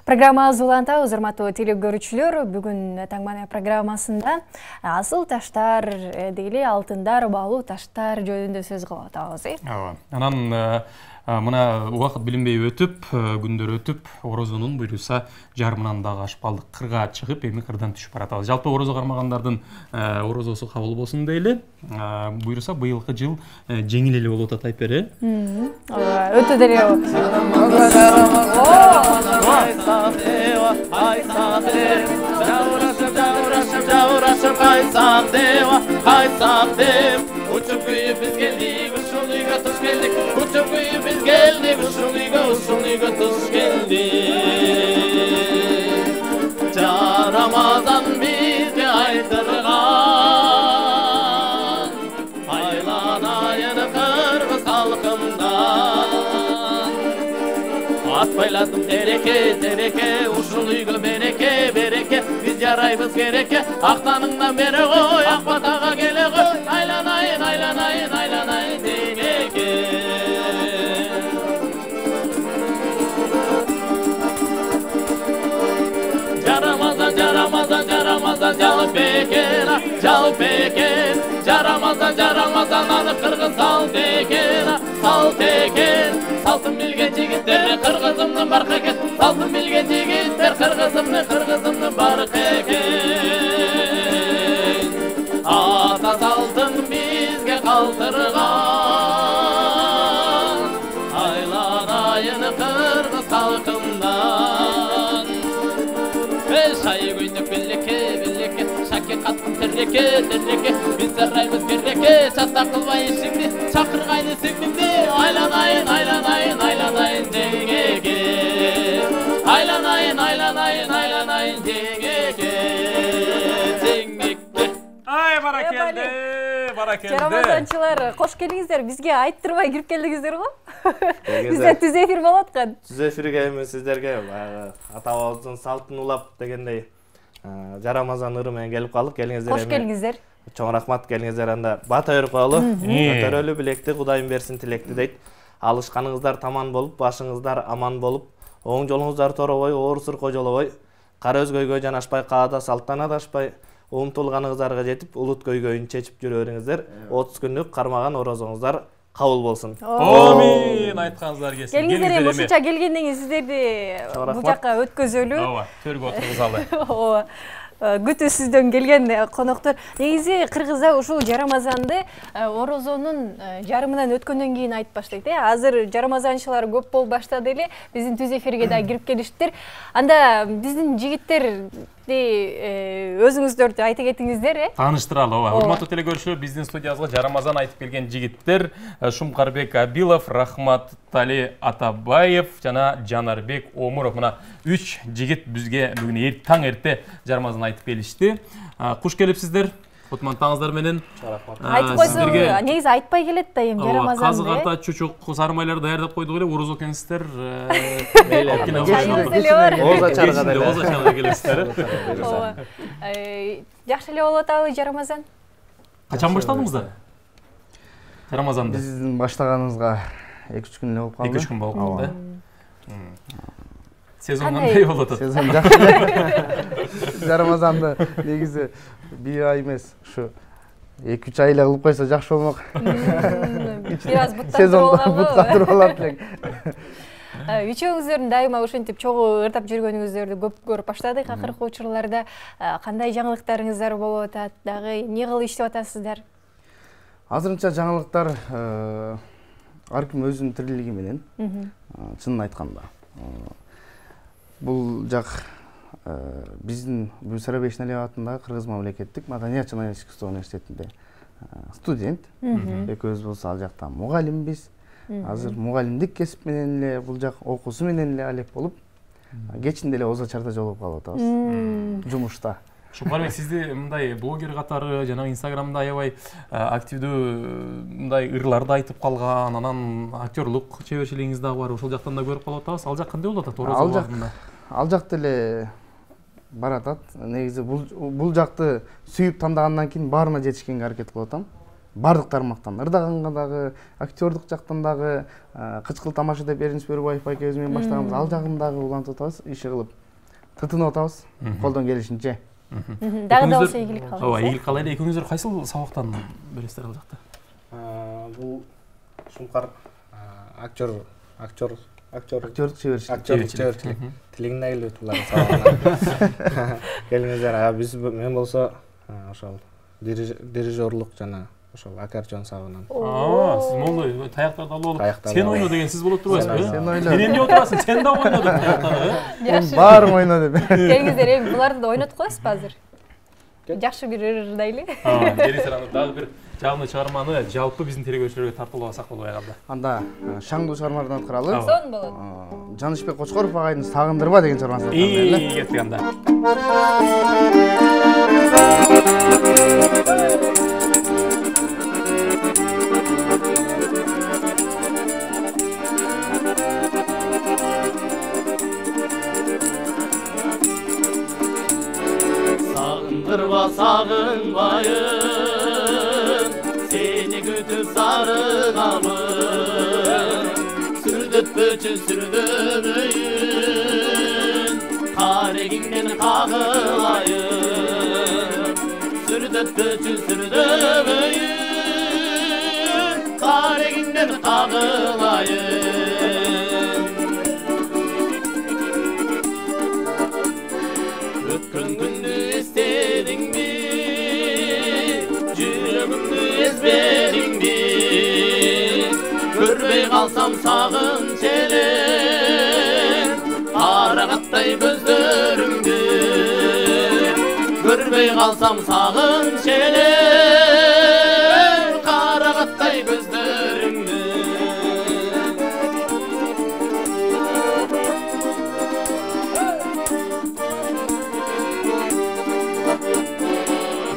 Программабыз улантабыз, урматтуу телекөрүүчүлөр. Бүгүн Таңмана программасында асыл таштар дейли алтындар, баалуу таштар жөнүндө сөз кылып атабыз. Ооба. Анан мына убакыт билинбей өтүп, күндөр өтүп, орозонун буйруса жарымынан дагы ашпалдык кырга чыгып, эми кырдан түшүп баратабыз. Жалпы орозо кармагандардын орозосу кабыл болсун дейли. Буйруса быйылкы жыл жеңил эле болуп атат Айпер. Ооба, өтө деле. Uçup kıyıp biz geldik, uşul uyga tuş geldik. Uçup kıyıp biz geldik, uşul uyga tuş geldik. Ramazan bizge aytırgan, aylanayın kırgız halkımdan. Atbayladım tereke, uşul uyga bereke. Biz yaraybız gereke, aktanından beri koy, akbatağa gele koy. Aylanayın deneke. Caramazan calı peken. Caramazan anı kırgın sal teken. Saltın bilgen jigitler kırgızımdın barkı eken. Saltın bilgen jigitler kırgızımdın barkı eken. Ata saltın bizge kaldırgan, aylanayın kırgız halkımdan. Şayı gündük billeke, şaki katkın terleke. Biz sarayımız gerreke, çatta kılmayı şimdi, çakırgaydı sinimdi. Aylanayın dengeke. Aylanayın dengeke. Ay barakelde. Жарамазанчылар, кош келиңиздер. Бизге айттырбай кирип келдиңиздер го. Бизде түз эфир болуп аткан. Түз эфирге эми сиздерге ата-бабабыздын салтын улап дегендей Жарамазан ыры менен келип калдык. Келиңиздер. Кош келиңиздер. Чоң рахмат, келиңиздер. Анда бата берип коелу. Көтөрөлү билекти, Кудайым берсин тилекти дейт. Алышканыңыздар таман болуп, башыңыздар аман болуп, оң жолуңуздар торобой, оор сыркой жолобой, кара өзгөйгө жанашпай, каада салттан адашпай, умтулганыңыздарга жетип, улут көйгөйүн чечип жүрө бериңиздер. 30 күндүк кармаган орозоңуздар кабыл болсун. Амин, айтканыңыздар келсин. Келиңиздер, ушунча келгенден кийин сиздерди бул жакка өткөзөлү. Ооба, төргө отургузалы. Ооба. Күтүүсүздөн келген коноктор. Негизи кыргызда ушул Жарамазанды орозонун жарымынан өткөндөн кийин айтып баштайт. Азыр жарамазанчылар көп болуп баштады эле. Биздин түз эфирге да кирип келиштир. Анда биздин жигиттерди өзүңүздөрдү айта кетиңиздер, Тааныштыралы, ооба. Урматтуу телекөрүүчүлөр, биздин студиябызга Жарамазан айтып келген жигиттер Шумкарбек Абилов, Рахматали Атабаев жана Жанарбек Омуров. Мына 3 жигит бизге бүгүн таң эрте Жарамазан айтып келишти. Куш келипсиздер. Отмантаңыздар менен. Айтып койсоң, негизи айтпай келет да эми Жарамазан. Казы карта, чучук, сармайлар даярдап койдук эле, уруз экенсиздер. Оза чарга келесиздер. Жакшы эле болуп атабы Жарамазан? Качан баштадыңыздар? Жарамазанды. Биздин баштаганыбызга 2-3 күн эле болуп калды. 2-3 күн болуп калды. Сезон кандай болуп атат? Сезон жакшы эле. Жарамазанды негизи бир ай эмес, ушу 2-3 ай эле кылып койсо жакшы болмок. Бир аз буттандырып алат элек. Үчөөңүздөрдүн дайыма ушинтип чогуу ырдап жүргөнүңүздөрдү көп көрүп баштадык акыркы учурларда. Кандай жаңылыктарыңыздар болуп атат? Дагы эмне кылып иштеп атасыздар? Азырынча жаңылыктар ар ким өзүнүн тирилиги менен. Чынын айтканда. Бул жак биздин Бүсара Бешналиев атындагы Кыргыз мамлекеттик Маданият жана искусство университетинде студент. Экөөбүз болсо ал жакта мугалимбиз. Азыр мугалимдик кесип менен эле бул жак окуусу менен эле алек болуп, кечинде эле Озо чарда жолугуп калып атабыз. Жумушта. Шукарбек, сизди мындай блогер катары жана Инстаграмда аябай активдүү мындай ырларды айтып калган, анан актерлук чеберчилигиңиз дагы бар. Ошол жактан да көрүп калып атабыз. Ал жак кандай болуп атат орозо убагында? Ал жакта эле баратат. Негизи бул жакты сүйүп тандагандан кийин баарына жетишкенге аракет кылып атам. бардык тармактан, ырдаганга дагы, актёрдук жактан дагы, кычкыл тамаша деп Эринч Бөрүбаев байкебиз менен баштаганбыз, ал жагын дагы улантып атабыз, иши кылып тытынып атабыз, колдон келишинче. Дагы да болсо ийгилик калат. Ооба, ийгилик калайлы. Экөөңүздөр кайсыл сабактан бересиздер ал жакта? Бул Шумкар Актёрдук чеберчилик тилиңине келип булардын сабагына келиңиздер. Мен болсо ошол дирижерлук жана ошол аккордеон сабагынан. Сиз мондой таяктарды алып алып, сен ойно деген сиз болуп турбайсызбы? Сен ойно. Мен эмне отурасың? Сен да ойно деп таяктарды. Жакшы. Баарын ойно деп. Келиңиздер, эми буларды да ойнотуп коесузбу азыр? Жакшы бир ырдайлы. Келиңиздер, аны дагы бир жагымдуу чыгарманы жалпы биздин телекөрүүчүлөргө тартуулабасак болбой калды. Анда шаңдуу чыгармалардан аткаралы. Сон болот. Жанышбек Кочкоров агайдын Сагындырба деген чыгармасын аткаралы. Кеттик анда. Сагындырба сагынбайын, сени күтүп сарыгамын. Сүрдөтпөчү сүрдөбөйүн, карегиңден кагылайын. Сүрдөтпөчү сүрдөбөйүн, карегиңден кагылайын. Өткөн күндү эстедиңби, жүрөгүмдү эзбедиңби? Көрбөй калсам сагынч элем, карагаттай көздөрүңдү. Көрбөй калсам сагынч элем, карагаттай көздөрүңдү.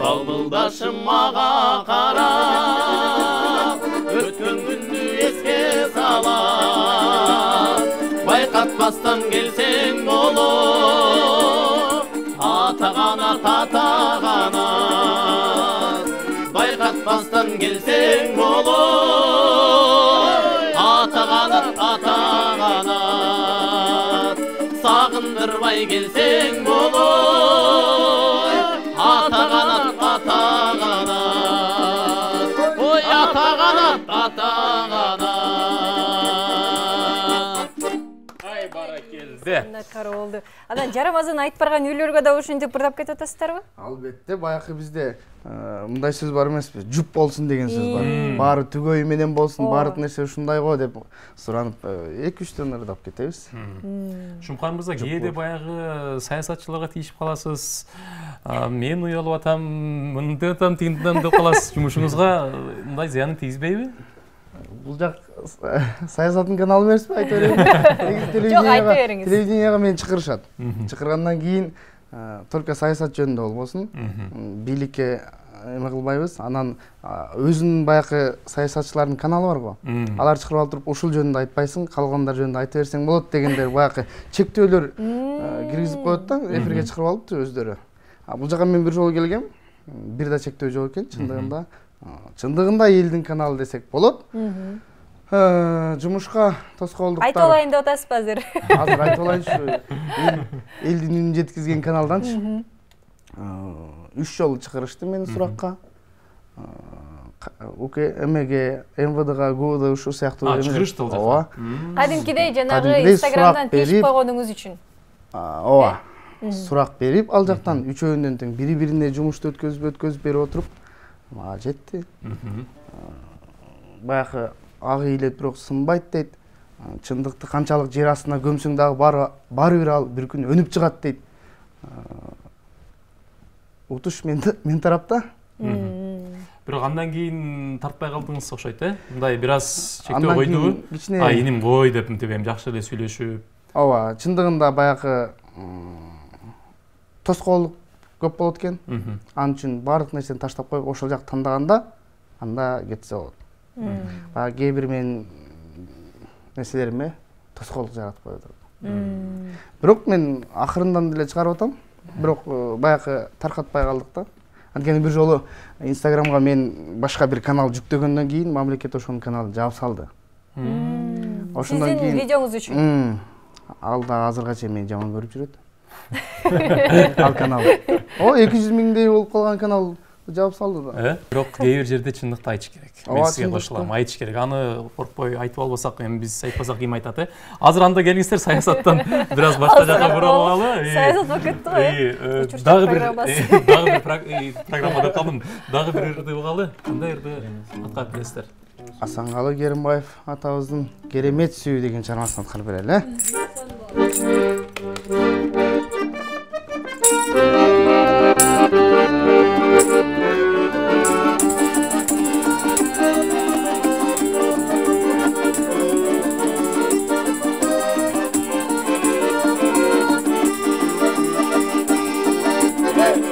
Балбылдашым мага карап, өткөн күндү эске салат. Байкатпастан келсең болот, атаганат атаганат. Байкатпастан келсең болот, атаганат атаганат. Сагындырбай келсең болот, атаганат атаганат. Ой, атаганат атаганат. Ай, баракелде. Накар болду. Анан жарамазан айтып барган үйлөргө да ушинтип ырдап кетип атасыздарбы? Албетте, баягы бизде мындай сөз бар эмеспи? Жуп болсун деген сөз бар. Баары түгөй менен болсун, баардык нерсе ушундай го деп суранып 2-3төн ырдап кетебиз. Шумкар мырза, кээде баягы саясатчыларга тийишип каласыз. Мен уялып атам, мындай атам, тигинден деп каласыз. Жумушуңузга мындай зыянын тийгизбейби? Бул жак саясаттын каналы эмеспи, айта берейин. Жок, айта бериңиз. Телевиденияга мени чакырышат. Чакыргандан кийин только саясат жөнүндө болбосун, бийликке эме кылбайбыз. Анан өзүнүн баягы саясатчылардын каналы бар го. Алар чакырып алып туруп ушул жөнүндө айтпайсың, калгандар жөнүндө айта берсең болот дегендер баягы чектөөлөр киргизип коет да, эфирге чакырып алып өздөрү. Бул жака мен бир жолу келгем, бир да чектөө жок экен, чындыгында элдин каналы десек болот. Жумушка тоскоолдуктар. Айтып алайын деп атасызбы азыр? Азыр айтып алайынчы. Элдин үнүн жеткизген каналданчы. 3 жолу чакырышты мени суракка. УКМГ, МВДга, ГУда ушул сыяктуу чакырышты ал жака. Ооба. Кадимкидей жанагы Инстаграмдан тийишип койгонуңуз үчүн. Ооба. Сурак берип, ал жактан үчөөүнөн тең бири-бирине жумушту өткөзүп берип отуруп, мага жетти. Баягы ак ыйлет бирок сынбайт дейт. Чындыкты канчалык жер астына көмсөң дагы баары бир ал бир күн өнүп чыгат дейт. Утуш мен тарапта. Бирок андан кийин тартпай калдыңыз окшойт, Мындай бир аз чектөө койдубу? Иним кой деп мынтип эми жакшы эле сүйлөшүп. Ооба, чындыгында баягы тоскоолдук көп болот экен. Анын үчүн баардык нерсени таштап коюп ошол жакты тандаганда анда кетсе болот. Баягы кээ бир менин нерселериме тоскоолдук жаратып коет. Бирок мен акырындан деле чыгарып атам. Бирок баягы таркатпай калдык да. Анткени бир жолу Инстаграмга мен башка бир канал жүктөгөндөн кийин мамлекет ошонун каналын жаап салды. Ошондон кийин сиздин видеоңуз үчүн. Ал да азырга чейин мени жаман көрүп жүрөт. Ал канал. 200 миңдей болуп калган канал жаап салды да. Бирок кээ бир жерде чындыкты айтыш керек. Мен сизге кошулам, айтыш керек. Аны коркпой айтып албасак, эми биз айтпасак ким айтат, Азыр анда келиңиздер саясаттан бир аз башка жака бурулуп алалы. Саясат болуп кетти го. Дагы бир программада калдым. Дагы бир ырды угалы. Кандай ырды аткарып бересиздер? Асанкалы Керимбаев атабыздын Керемет сүйүү деген чыгармасын аткарып берели.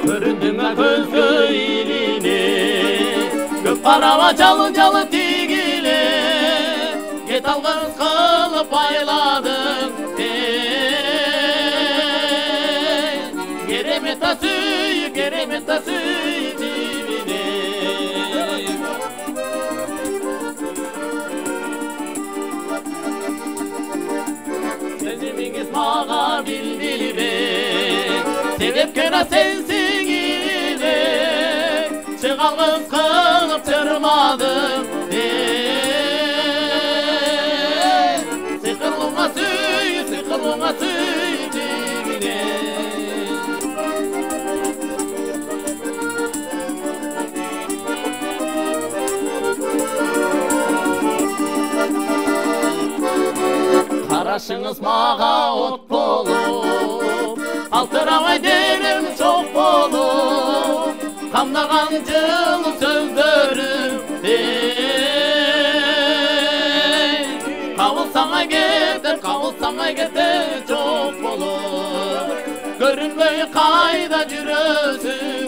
Көрүндүңө көзгө илине, көп караба жалын тигиле, кет алгыс кылып байладың, керемет сүй дибине. Сезимиңиз мага билдирбек, себепкер сенсиң иле, чыгалгыс кылып чырмадың, сыйкырлууга сүй дибине. Карашыңыз мага от болуп, калтырабай денем чок болуп, камдаган жылы сөздөрүм, кабылсамай кетет жок болуп, көрүнбөй кайда жүрөсүң,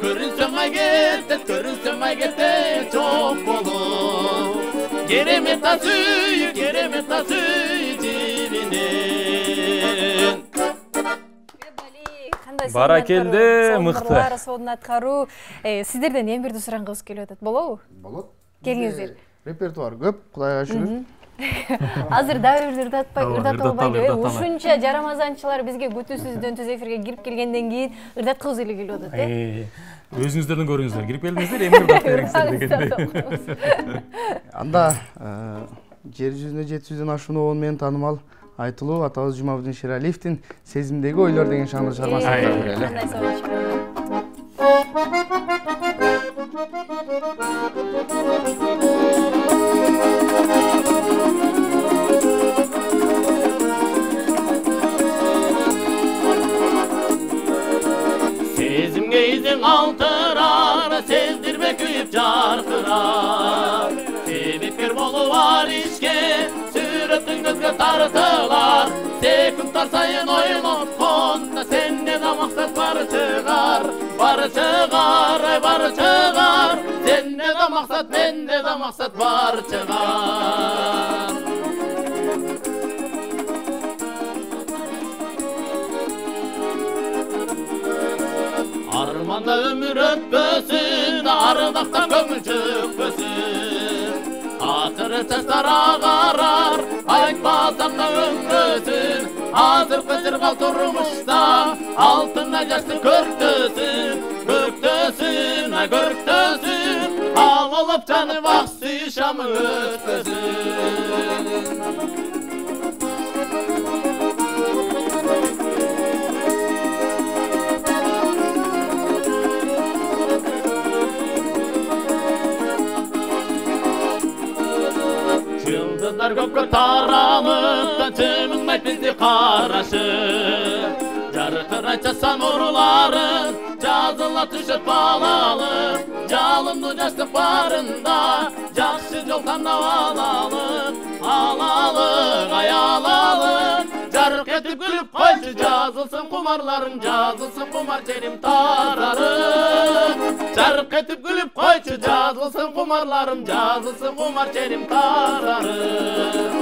көрүнсөмай кетет жок болуп, керемет сүй дибине. Баракелде, мыкты. Сонун аткаруу. Сиздерден эң бирди сурагыбыз келип атат. Болобу? Болот. Келиңиздер. Репертуар көп, Кудайга шүгүр. Азыр дагы бир ырдатып албайбы? Ушунча жарамазанчылар бизге күтүүсүздөн түз эфирге кирип келгенден кийин ырдаткыбыз эле келип атат, Өзүңүздөрдөн көрүңүздөр, кирип келдиңиздер, эми ырдап бериңиздер дегендей. Анда жер жүзүнө 700дөн ашуун обон менен таанымал айтылуу атабыз Жумабудин Шералиевдин Сезимдеги ойлор деген шаңдуу чыгармасын аткарып берели. Кандай сонун. Сезимге изиң алтырар, сездирбе күйүп жаркырар, себепкер болуп ар ишке, сүрөтүң көзгө тартылар, секундтар сайын ойлоткон, сенде да максат бары чыгар, сенде да максат, менде да максат бары чыгар. Арманда өмүр өтпөсүн, ардакта көңүл чөкпөсүн, акыры чачтар агарар, айтпасам да өңгөсүн, азыркы жыргал турмушта алтындай жаштын көктөсүн, ал болуп жанып ак сүй шамы өтпөсүн. Жылдыздар көпкө таралып, жымыңдайт бизди карашып, жаркырайча сан урууларын, жазыла түшөт балалып, жалындуу жаштык барында, жакшы жол тандап алалык, аялалык, жарык этип күлүп койчу, жазылсын кумарларың, жазылсын кумар жерим тарарып, жарык этип күлүп койчу, жазылсын кумарларым, жазылсын кумар жерим тарарып,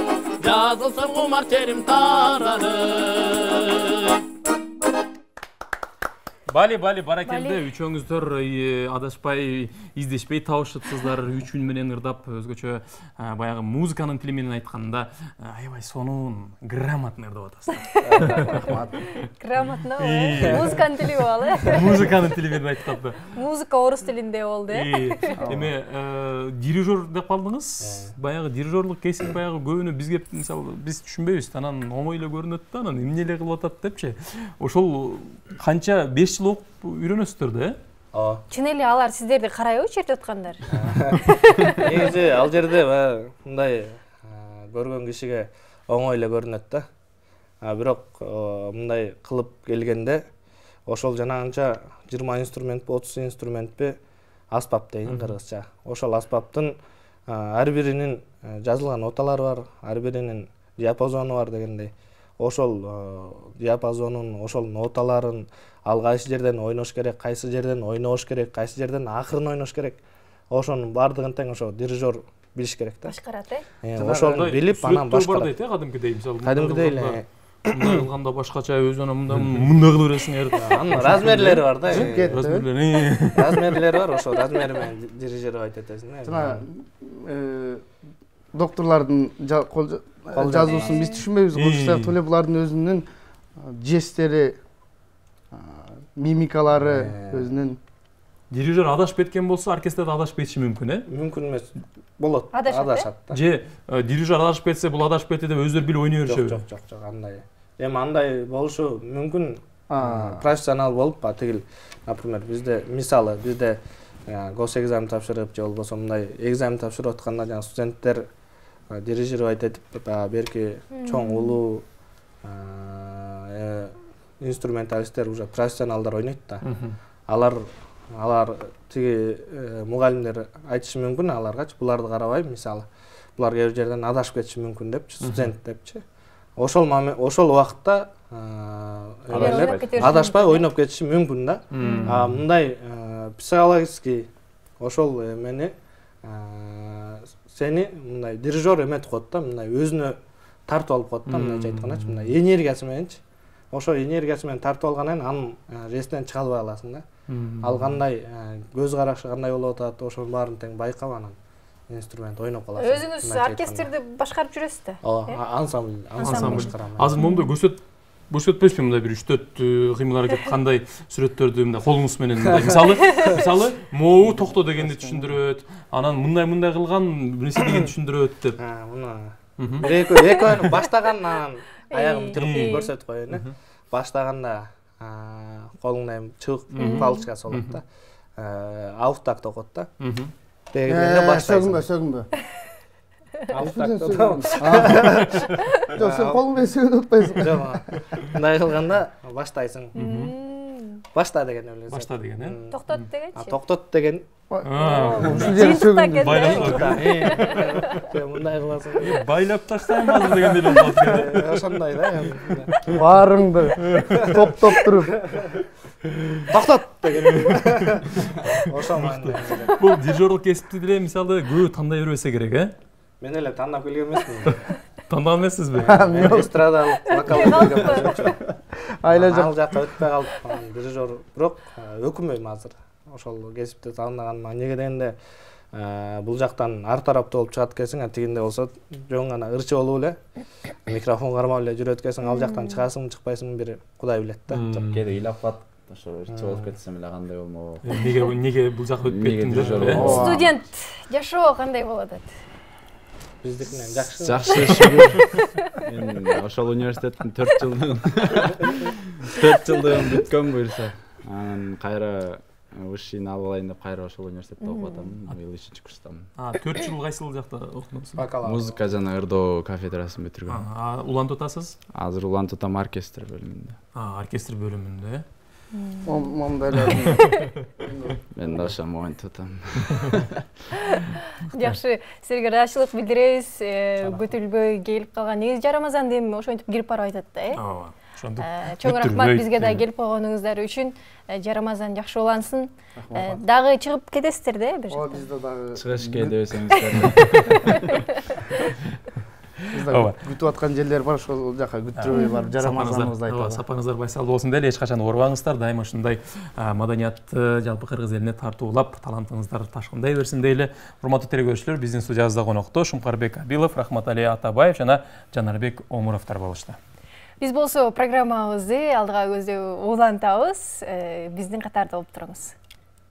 жазылсын кумар жерим тарарып. Бали баракелде, үчөөңүздөр адашпай, издешпей табышыпсыздар, 3000 менен ырдап, өзгөчө баягы музыканын тили менен айтканда, аябай сонун, грамотно ырдап атасыздар. Рахмат. Грамотно, музыканын тили болду. Музыканын тили менен айтканда. Музыка орус тилинде болду, Эме дирижер деп калдыңыз. Баягы дирижерлук кесип баягы көбүнө бизге мисалы биз түшүнбөйбүз, анан оңой эле көрүнөт да, анан эмне эле кылып атат депчи. Ошол канча 5 жыл окуп үйрөнөсүздөр да, Ооба. Чын эле алар сиздерди карайбы чертип аткандар? Негизи ал жерде мындай көргөн кишиге оңой эле көрүнөт да. Бирок мындай кылып келгенде ошол жанагынча 20 инструментпи, 30 инструментпи аспап дейин кыргызча. Ошол аспаптын ар биринин жазылган ноталары бар, ар биринин диапазону бар дегендей. Ошол диапазонун, ошол ноталарын ал кайсы жерден ойнош керек, кайсы жерден ойнобош керек, кайсы жерден акырын ойнош керек. Ошонун бардыгын тең ошо дирижер билиш керек да. Башкарат, Ошону билип, анан башкарат. Кадимкидей, мисалы. Кадимкидей эле. Мындай кылганда башкача өзүнө мындай кылып бересиңер. Анын размерлери бар да. Размерлери бар, ошо размери менен дирижер айтып этесиң. Жана докторлордун жазуусун биз түшүнбөйбүз, ошол эле булардын өзүнүн жестери, мимикалары, өзүнүн. Дирижер адашып кеткен болсо, оркестрде адашып кетиши мүмкүн, Мүмкүн эмес. Болот. Адашат да. Же дирижер адашып кетсе, бул адашып кетти деп өздөрү билип ойной беришеби? Жок, андай. Эми андай болушу мүмкүн. Профессионал болуп, тигил, например, бизде мисалы, бизде госэкзамен тапшырып, же болбосо мындай экзамен тапшырып атканда жана студенттер дирижировать этип, берки чоң улуу инструменталисттер, уже профессионалдар ойнойт да. Алар тиги мугалимдер айтышы мүмкүн аларгачы, буларды карабай, мисалы, булар кээ бир жерден адашып кетиши мүмкүн депчи, студент депчи. Ошол убакытта адашпай ойноп кетиши мүмкүн да. Мындай психологический ошол эмени сени мындай дирижер эметип коет да, мындай өзүнө тартып алып коет да, мындайча айткандачы, мындай энергиясы мененчи. Ошо энергиясы менен тартып алгандан анын ресинен чыга албай каласың да. Ал кандай көз карашы кандай болуп атат, ошонун баарын тең байкап анан инструмент ойноп каласың. Өзүңүз оркестрди башкарып жүрөсүз да? Ооба, ансамбль башкарам. Азыр момунда көрсөтпөйсүзбү мындай бир 3-4 кыймыл аракет кандай сүрөттөрдү мындай колуңуз менен мисалы могу токто дегенди түшүндүрөт, анан мындай кылган нерсе дегенди түшүндүрөт деп. Муну экөө баштаган анан аягым тырып көрсөтүп коеюн. Баштаганда колуңда эми чыбык палочкасы болот да. Ауфтак токот да. Дегенде баштайсың. Сөгүнбө. Ауфтак Жок, сен колуң менен сөгүнүп атпайсың. Жок. Мындай кылганда баштайсың. Башта деген эле. Башта деген, Токтот дегенчи? Токтот деген. Ушул жери сөгүндү. Мындай кыласың. Байлап таштайм азыр дегендей болуп калат. Ошондой да. Баарыңды топтоп туруп. Токтот деген. Ошол мындай. Бул дирижерлук кесипти деле мисалы көбү тандай бербесе керек, Мен эле тандап келген эмесмин. Тандаган эмессизби? Эстрадалык вокал Айла ал жакка өтпөй калып, дирижер, бирок өкүнбөйм азыр. Ошол кесипти тандagaныма. Неге дегенде, бул жактан ар тараптуу болуп чыгат экенсиң, тигинде болсо жөн гана ырчы болуп эле, микрофон кармап эле жүрөт экенсиң, ал жактан чыгасың, чыкпайсың бир Кудай билет да. Кээде ыйлап калат. Ошо ырчы болуп кетсем эле кандай болмок. Неге бул жакка өтүп кеттим деп? Студент жашоо кандай болот? Биздикинен жакшы. Жакшы шүгүр. Мен ошол университеттин 4 жылдыгын бүткөн буюрса, анан кайра вышыйны алып алайын деп кайра ошол университетте окуп атам. Быйыл 3-курстамын. 4 жыл кайсыл жакта окудуңуз? Музыка жана ырдоо кафедрасын бүтүргөм. Улантып атасыз? Азыр улантып атам оркестр бөлүмүндө. Оркестр бөлүмүндө. Момундай Мен да ошо моинтип атам. Жакшы, силерге ыраазычылык билдиребиз. Көтүлбөй келип калган. Негизи жарамазан эми ошентип кирип барып атат да, Ооба. Ошондук. Чоң рахмат бизге да келип койгонуңуздар үчүн. Жарамазан жакшы улансын. Дагы чыгып кетесиздер да бир жакта. Бизде дагы чыгыш кээде десеңиздер. Бизде күтүп аткан жерлер бар, ошол жака күттүрбөй барып жарамазаныбызды айталы. Сапаңыздар байсалдуу болсун деле, эч качан оорубаңыздар. Дайыма ушундай маданиятты жалпы кыргыз элине тартуулап, талантыңыздар ташкындай берсин дейли. Урматтуу телекөрүүчүлөр, биздин студиябызда конокто Шумкарбек Абилов, Рахматали Атабаев жана Жанарбек Омуровдор болушту. Биз болсо программабызды алдыга көздөй улантабыз. Биздин катарда болуп туруңуз.